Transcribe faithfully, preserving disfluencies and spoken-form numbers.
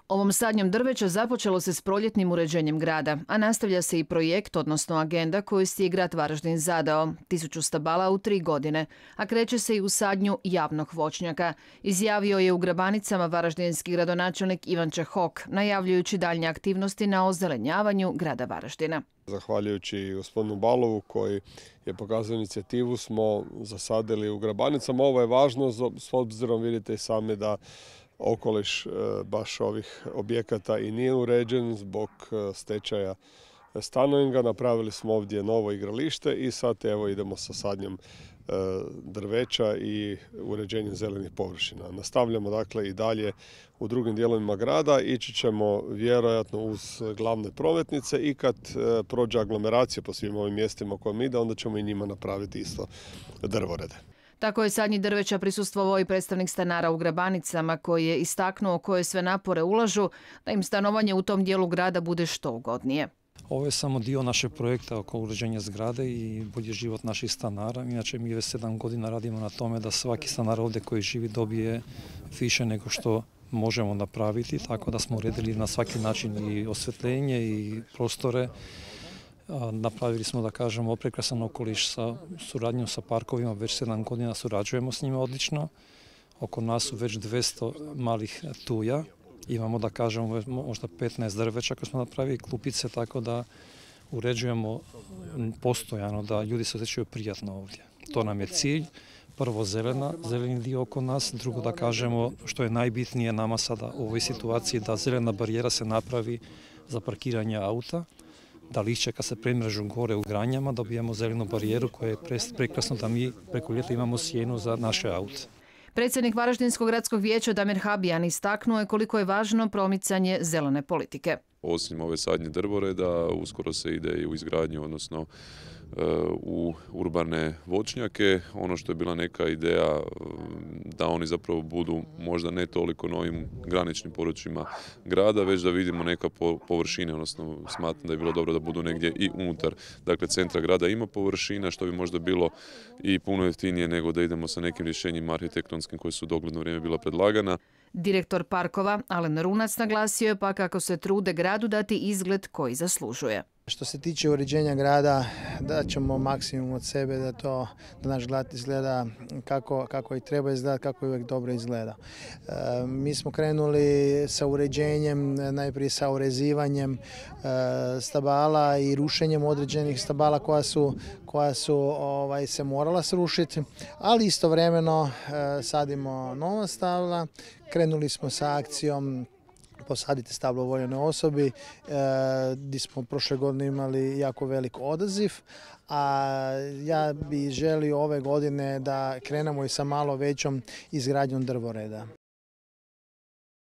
Ovom sadnjom drveća započelo se s proljetnim uređenjem grada, a nastavlja se i projekt, odnosno agenda koju si je grad Varaždin zadao, tisuću stabala u tri godine, a kreće se i u sadnju javnog voćnjaka, izjavio je u Grabanicama varaždinski gradonačelnik Ivan Čehok, najavljujući daljnje aktivnosti na ozelenjavanju grada Varaždina. Zahvaljujući gospodinu Balovu koji je pokazao inicijativu smo zasadili u Grabanicama. Ovo je važno s obzirom, vidite i sami, da okoliš baš ovih objekata i nije uređen zbog stečaja Stanoinga. Napravili smo ovdje novo igralište i sad evo idemo sa sadnjom drveća i uređenjem zelenih površina. Nastavljamo dakle i dalje u drugim dijelovima grada, ići ćemo vjerojatno uz glavne prometnice i kad prođe aglomeracija po svim ovim mjestima kojim ide, onda ćemo i njima napraviti isto drvorede. Tako je sadnji drveća prisustvovao i predstavnik stanara u Grabanicama koji je istaknuo koje sve napore ulažu da im stanovanje u tom dijelu grada bude što ugodnije. Ovo je samo dio našeg projekta oko uređenja zgrade i bolji život naših stanara. Inače, mi već sedam godina radimo na tome da svaki stanar ovdje koji živi dobije više nego što možemo napraviti, tako da smo uredili na svaki način i osvjetljenje i prostore. Napravili smo, da kažemo, prekrasan okoliš sa suradnjom sa parkovima, već sedam godina surađujemo s njima odlično. Oko nas su već dvjesto malih tuja. Imamo, da kažemo, možda petnaest drveća koje smo napravili, klupice, tako da uređujemo postojano da ljudi se osjećaju prijatno ovdje. To nam je cilj. Prvo zelena, zeleni dio oko nas, drugo da kažemo što je najbitnije nama sada u ovoj situaciji da zelena barijera se napravi za parkiranje auta, da lišće kad se premrežu gore u granjama dobijemo zelenu barijeru koja je prekrasno da mi preko ljeta imamo sjenu za naše aute. Predsjednik Varaždinskog gradskog vijeća Damir Habijan istaknuo je koliko je važno promicanje zelene politike. Osim ove sadnje drvoreda, uskoro se ide i u izgradnju, odnosno u urbane voćnjake. Ono što je bila neka ideja da oni zapravo budu možda ne toliko na ovim graničnim područjima grada, već da vidimo neka površine, odnosno smatram da je bilo dobro da budu negdje i unutar. Dakle, centra grada ima površina, što bi možda bilo i puno jeftinije nego da idemo sa nekim rješenjima arhitektonskim koji su u dogledno vrijeme bila predlagana. Direktor parkova Alen Runac naglasio je pa kako se trude gradu dati izgled koji zaslužuje. Što se tiče uređenja grada, da ćemo maksimum od sebe da to da naš grad izgleda kako, kako i treba izgledati, kako i uvijek dobro izgleda. E, mi smo krenuli sa uređenjem, najprije sa urezivanjem e, stabala i rušenjem određenih stabala koja su, koja su ovaj, se morala srušiti, ali istovremeno e, sadimo nova stabla. Krenuli smo sa akcijom Posadite stablo voljenoj osobi, e, gdje smo prošle godine imali jako velik odaziv, a ja bih želio ove godine da krenemo i sa malo većom izgradnjom drvoreda.